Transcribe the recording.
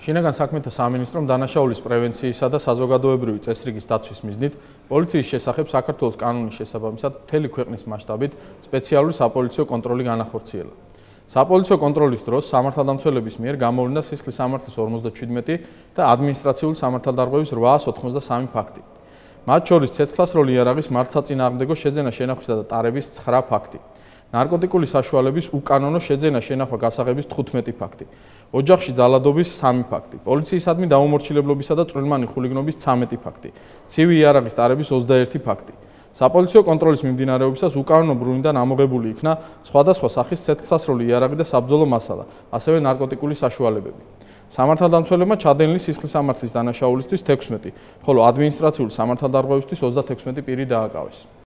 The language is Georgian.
შინაგან საქმეთა სამინისტრომ დანაშაულის პრევენციისა და საზოგადოებრივი წესრიგის დაცვის მიზნით პოლიციის შესახებ საქართველოს კანონის შესაბამისად მთელი ქვეყნის მასშტაბით სპეციალური sapolitsiო კონტროლი განახორციელა. Sapolitsiო კონტროლის დროს სამართალდამცველების მიერ გამოვლინდა სისხლის სამართლის 57 და ადმინისტრაციული სამართალდარღვევის 883 ფაქტი. მათ შორის ცეცხლსასროლი იარაღის მართლსაწინააღმდეგო შეძენა შენახვისა და ტარების 9 ფაქტი. ნარკოტიკული საშუალების უკანონო შეძენა შენახვა გასაღების 15 ფაქტი. ოჯახში ძალადობის 3 ფაქტი. პოლიციისადმი დაუმორჩილებლობისა და წვრილმანი ხულიგნობის 13 ფაქტი. ცივი იარაღის ტარების 21 ფაქტი. Sapolitsiო კონტროლის მიმდინარეობისას უკანონო ბრუნვიდან ამოღებული იქნა სხვადასხვა სახის ცეცხლსასროლი იარაღი და საბრძოლო მასალა, ასევე ნარკოტიკული საშუალებები. სამართალდამცველებმა ჩადენილი სისხლის სამართლის დანაშაულისთვის 16, ხოლო ადმინისტრაციული სამართალდარღვევისთვის 36 პირი დააკავეს.